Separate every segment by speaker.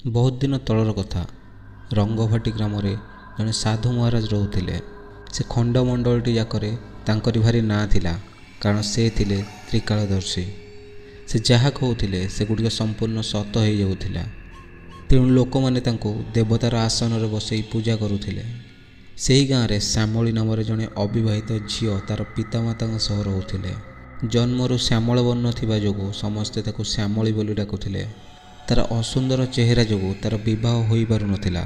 Speaker 1: ବହୁତ ଦିନ ତଳର କଥା। ରଙ୍ଗଭାଟି ଗ୍ରାମରେ ଜଣେ ସାଧୁ ମହାରାଜ ରହୁଥିଲେ। ସେ ଖଣ୍ଡମଣ୍ଡଳଟି ଯାକରେ ତାଙ୍କରି ଭାରି ନାଁ ଥିଲା, କାରଣ ସେ ଥିଲେ ତ୍ରିକାଳଦର୍ଶୀ। ସେ ଯାହା କହୁଥିଲେ ସେଗୁଡ଼ିକ ସମ୍ପୂର୍ଣ୍ଣ ସତ ହେଇଯାଉଥିଲା। ତେଣୁ ଲୋକମାନେ ତାଙ୍କୁ ଦେବତାର ଆସନରେ ବସେଇ ପୂଜା କରୁଥିଲେ। ସେହି ଗାଁରେ ଶ୍ୟାମଳୀ ନାମରେ ଜଣେ ଅବିବାହିତ ଝିଅ ତାର ପିତାମାତାଙ୍କ ସହ ରହୁଥିଲେ। ଜନ୍ମରୁ ଶ୍ୟାମଳ ବର୍ଣ୍ଣ ଥିବା ଯୋଗୁଁ ସମସ୍ତେ ତାକୁ ଶ୍ୟାମଳୀ ବୋଲି ଡାକୁଥିଲେ। ତାର ଅସୁନ୍ଦର ଚେହେରା ଯୋଗୁଁ ତାର ବିବାହ ହୋଇପାରୁନଥିଲା।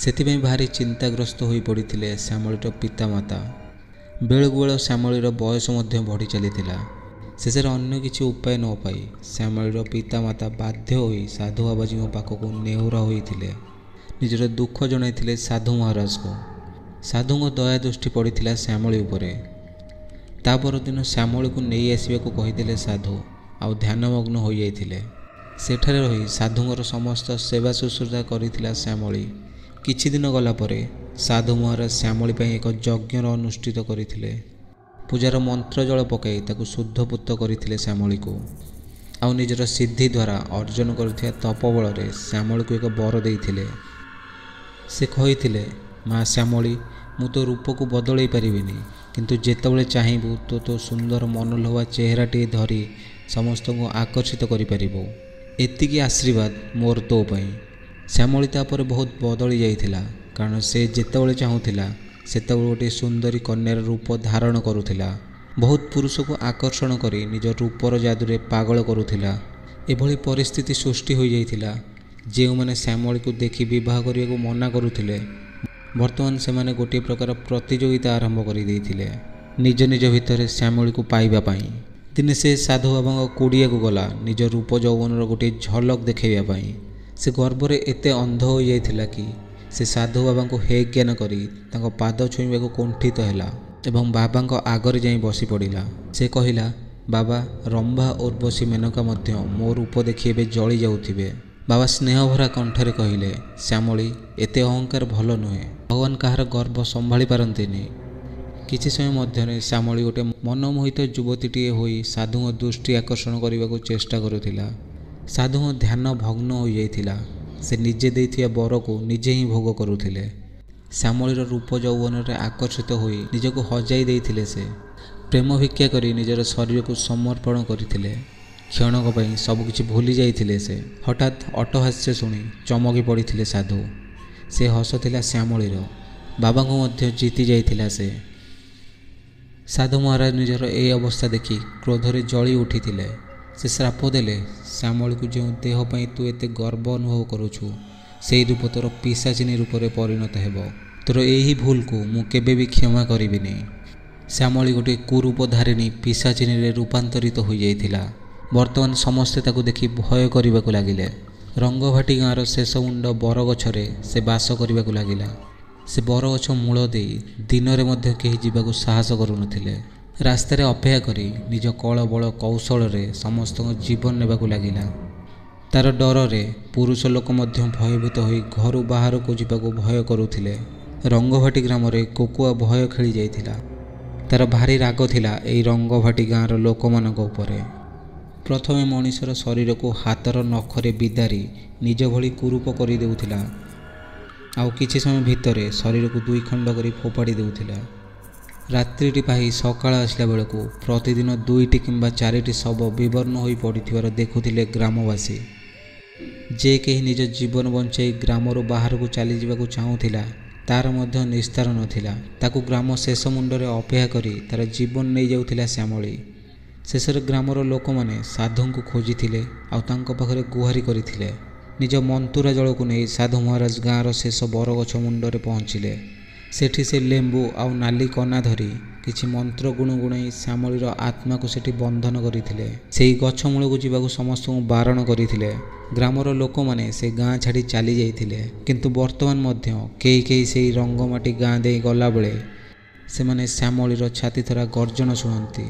Speaker 1: ସେଥିପାଇଁ ଭାରି ଚିନ୍ତାଗ୍ରସ୍ତ ହୋଇପଡ଼ିଥିଲେ ଶ୍ୟାମଳୀର ପିତାମାତା। ବେଳକୁ ବେଳ ଶ୍ୟାମଳୀର ବୟସ ମଧ୍ୟ ବଢ଼ି ଚାଲିଥିଲା। ଶେଷରେ ଅନ୍ୟ କିଛି ଉପାୟ ନ ପାଇ ଶ୍ୟାମଳୀର ପିତାମାତା ବାଧ୍ୟ ହୋଇ ସାଧୁ ବାବାଜୀଙ୍କ ପାଖକୁ ନେହୁରା ହୋଇଥିଲେ। ନିଜର ଦୁଃଖ ଜଣାଇଥିଲେ ସାଧୁ ମହାରାଜଙ୍କୁ। ସାଧୁଙ୍କ ଦୟା ଦୃଷ୍ଟି ପଡ଼ିଥିଲା ଶ୍ୟାମଳୀ ଉପରେ। ତା ପରଦିନ ଶ୍ୟାମଳୀକୁ ନେଇ ଆସିବାକୁ କହିଥିଲେ ସାଧୁ, ଆଉ ଧ୍ୟାନମଗ୍ନ ହୋଇଯାଇଥିଲେ। ସେଠାରେ ରହି ସାଧୁଙ୍କର ସମସ୍ତ ସେବା ଶୁଶ୍ରୂଷା କରିଥିଲା ଶ୍ୟାମଳୀ। କିଛି ଦିନ ଗଲା ପରେ ସାଧୁ ମହାରାଜ ଶ୍ୟାମଳୀ ପାଇଁ ଏକ ଯଜ୍ଞର ଅନୁଷ୍ଠିତ କରିଥିଲେ। ପୂଜାର ମନ୍ତ୍ର ଜଳ ପକାଇ ତାକୁ ଶୁଦ୍ଧପୁତ କରିଥିଲେ ଶ୍ୟାମଳୀକୁ, ଆଉ ନିଜର ସିଦ୍ଧି ଦ୍ୱାରା ଅର୍ଜନ କରିଥିବା ତପବଳରେ ଶ୍ୟାମଳୀକୁ ଏକ ବର ଦେଇଥିଲେ। ସେ କହିଥିଲେ, ମା ଶ୍ୟାମଳୀ, ମୁଁ ତୋ ରୂପକୁ ବଦଳେଇ ପାରିବିନି, କିନ୍ତୁ ଯେତେବେଳେ ଚାହିଁବୁ ତୁ ତୋ ସୁନ୍ଦର ମନଲୋଭା ଚେହେରାଟିଏ ଧରି ସମସ୍ତଙ୍କୁ ଆକର୍ଷିତ କରିପାରିବୁ। ଏତିକି ଆଶୀର୍ବାଦ ମୋର ତୋ ପାଇଁ। ଶ୍ୟାମଳୀ ତାପରେ ବହୁତ ବଦଳି ଯାଇଥିଲା, କାରଣ ସେ ଯେତେବେଳେ ଚାହୁଁଥିଲା ସେତେବେଳେ ଗୋଟିଏ ସୁନ୍ଦରୀ କନ୍ୟାର ରୂପ ଧାରଣ କରୁଥିଲା। ବହୁତ ପୁରୁଷକୁ ଆକର୍ଷଣ କରି ନିଜ ରୂପର ଯାଦୁରେ ପାଗଳ କରୁଥିଲା। ଏଭଳି ପରିସ୍ଥିତି ସୃଷ୍ଟି ହୋଇଯାଇଥିଲା, ଯେଉଁମାନେ ଶ୍ୟାମଳୀକୁ ଦେଖି ବିବାହ କରିବାକୁ ମନା କରୁଥିଲେ, ବର୍ତ୍ତମାନ ସେମାନେ ଗୋଟିଏ ପ୍ରକାର ପ୍ରତିଯୋଗିତା ଆରମ୍ଭ କରିଦେଇଥିଲେ ନିଜ ନିଜ ଭିତରେ ଶ୍ୟାମଳୀକୁ ପାଇବା ପାଇଁ। ଦିନେ ସେ ସାଧୁ ବାବାଙ୍କ କୁଡ଼ିଆକୁ ଗଲା ନିଜ ରୂପ ଯୌବନର ଗୋଟିଏ ଝଲକ ଦେଖାଇବା ପାଇଁ। ସେ ଗର୍ବରେ ଏତେ ଅନ୍ଧ ହୋଇଯାଇଥିଲା କି ସେ ସାଧୁ ବାବାଙ୍କୁ ହେ ଜ୍ଞାନ କରି ତାଙ୍କ ପାଦ ଛୁଇଁବାକୁ କୁଣ୍ଠିତ ହେଲା ଏବଂ ବାବାଙ୍କ ଆଗରେ ଯାଇ ବସି ପଡ଼ିଲା। ସେ କହିଲା, ବାବା, ରମ୍ଭା, ଉର୍ବଶୀ, ମେନକା ମଧ୍ୟ ମୋ ରୂପ ଦେଖି ଏବେ ଜଳି ଯାଉଥିବେ। ବାବା ସ୍ନେହଭରା କଣ୍ଠରେ କହିଲେ, ଶ୍ୟାମଳୀ, ଏତେ ଅହଙ୍କାର ଭଲ ନୁହେଁ। ଭଗବାନ କାହାର ଗର୍ବ ସମ୍ଭାଳି ପାରନ୍ତିନି। କିଛି ସମୟ ମଧ୍ୟରେ ଶ୍ୟାମଳୀ ଗୋଟେ ମନମୋହିତ ଯୁବତୀଟିଏ ହୋଇ ସାଧୁଙ୍କ ଦୃଷ୍ଟି ଆକର୍ଷଣ କରିବାକୁ ଚେଷ୍ଟା କରୁଥିଲା। ସାଧୁଙ୍କ ଧ୍ୟାନ ଭଗ୍ନ ହୋଇଯାଇଥିଲା। ସେ ନିଜେ ଦେଇଥିବା ବରକୁ ନିଜେ ହିଁ ଭୋଗ କରୁଥିଲେ। ଶ୍ୟାମଳୀର ରୂପ ଯୌବନରେ ଆକର୍ଷିତ ହୋଇ ନିଜକୁ ହଜାଇ ଦେଇଥିଲେ ସେ। ପ୍ରେମ ଭିକ୍ଷା କରି ନିଜର ଶରୀରକୁ ସମର୍ପଣ କରିଥିଲେ। କ୍ଷଣକ ପାଇଁ ସବୁକିଛି ଭୁଲି ଯାଇଥିଲେ ସେ। ହଠାତ୍ ଅଟ୍ଟହାସ୍ୟ ଶୁଣି ଚମକି ପଡ଼ିଥିଲେ ସାଧୁ। ସେ ହସ ଥିଲା ଶ୍ୟାମଳୀର। ବାବାଙ୍କୁ ମଧ୍ୟ ଜିତି ଯାଇଥିଲା ସେ। ସାଧୁ ମହାରାଜ ନିଜର ଏ ଅବସ୍ଥା ଦେଖି କ୍ରୋଧରେ ଜଳି ଉଠିଥିଲେ। ସେ ଶ୍ରାପ ଦେଲେ ଶ୍ୟାମଳୀକୁ, ଯେଉଁ ଦେହ ପାଇଁ ତୁ ଏତେ ଗର୍ବ ଅନୁଭବ କରୁଛୁ, ସେଇ ରୂପ ତୋର ପିଶାଚିନୀ ରୂପରେ ପରିଣତ ହେବ। ତୋର ଏହି ଭୁଲକୁ ମୁଁ କେବେ ବି କ୍ଷମା କରିବିନି। ଶ୍ୟାମଳୀ ଗୋଟିଏ କୁରୂପଧାରିଣୀ ପିଶାଚିନୀରେ ରୂପାନ୍ତରିତ ହୋଇଯାଇଥିଲା। ବର୍ତ୍ତମାନ ସମସ୍ତେ ତାକୁ ଦେଖି ଭୟ କରିବାକୁ ଲାଗିଲେ। ରଙ୍ଗଭାଟି ଗାଁର ଶେଷ ମୁଣ୍ଡ ବରଗଛରେ ସେ ବାସ କରିବାକୁ ଲାଗିଲା। ସେ ବରଗଛ ମୂଳ ଦେଇ ଦିନରେ ମଧ୍ୟ କେହି ଯିବାକୁ ସାହସ କରୁନଥିଲେ। ରାସ୍ତାରେ ଅପେକ୍ଷା କରି ନିଜ କଳ ବଳ କୌଶଳରେ ସମସ୍ତଙ୍କ ଜୀବନ ନେବାକୁ ଲାଗିଲା। ତାର ଡରରେ ପୁରୁଷ ଲୋକ ମଧ୍ୟ ଭୟଭୀତ ହୋଇ ଘରୁ ବାହାରକୁ ଯିବାକୁ ଭୟ କରୁଥିଲେ। ରଙ୍ଗଭାଟି ଗ୍ରାମରେ କୋକୁଆ ଭୟ ଖେଳି ଯାଇଥିଲା। ତାର ଭାରି ରାଗ ଥିଲା ଏଇ ରଙ୍ଗଭାଟି ଗାଁର ଲୋକମାନଙ୍କ ଉପରେ। ପ୍ରଥମେ ମଣିଷର ଶରୀରକୁ ହାତର ନଖରେ ବିଦାରି ନିଜ ଭଳି କୁରୂପ କରିଦେଉଥିଲା, ଆଉ କିଛି ସମୟ ଭିତରେ ଶରୀରକୁ ଦୁଇ ଖଣ୍ଡ କରି ଫୋପାଡ଼ି ଦେଉଥିଲା। ରାତ୍ରିଟି ପାହି ସକାଳ ଆସିଲା ବେଳକୁ ପ୍ରତିଦିନ 2ଟି କିମ୍ବା 4ଟି ଶବ ବିବର୍ଣ୍ଣ ହୋଇ ପଡ଼ିଥିବାର ଦେଖୁଥିଲେ ଗ୍ରାମବାସୀ। ଯେ କେହି ନିଜ ଜୀବନ ବଞ୍ଚାଇ ଗ୍ରାମରୁ ବାହାରକୁ ଚାଲିଯିବାକୁ ଚାହୁଁଥିଲା, ତାର ମଧ୍ୟ ନିସ୍ତାର ନଥିଲା। ତାକୁ ଗ୍ରାମ ଶେଷ ମୁଣ୍ଡରେ ଅପେକ୍ଷା କରି ତାର ଜୀବନ ନେଇଯାଉଥିଲା ଶ୍ୟାମଳୀ। ଶେଷରେ ଗ୍ରାମର ଲୋକମାନେ ସାଧୁଙ୍କୁ ଖୋଜିଥିଲେ ଆଉ ତାଙ୍କ ପାଖରେ ଗୁହାରି କରିଥିଲେ। ନିଜ ମନ୍ତୁରା ଜଳକୁ ନେଇ ସାଧୁ ମହାରାଜ ଗାଁର ଶେଷ ବରଗଛ ମୁଣ୍ଡରେ ପହଞ୍ଚିଲେ। ସେଠି ସେ ଲେମ୍ବୁ ଆଉ ନାଲି କନା ଧରି କିଛି ମନ୍ତ୍ର ଗୁଣୁଗୁଣାଇ ଶ୍ୟାମଳୀର ଆତ୍ମାକୁ ସେଠି ବନ୍ଧନ କରିଥିଲେ। ସେହି ଗଛ ମୂଳକୁ ଯିବାକୁ ସମସ୍ତଙ୍କୁ ବାରଣ କରିଥିଲେ। ଗ୍ରାମର ଲୋକମାନେ ସେ ଗାଁ ଛାଡ଼ି ଚାଲି ଯାଇଥିଲେ, କିନ୍ତୁ ବର୍ତ୍ତମାନ ମଧ୍ୟ କେହି କେହି ସେହି ରଙ୍ଗମାଟି ଗାଁ ଦେଇ ଗଲାବେଳେ ସେମାନେ ଶ୍ୟାମଳୀର ଛାତିଥରା ଗର୍ଜନ ଶୁଣନ୍ତି।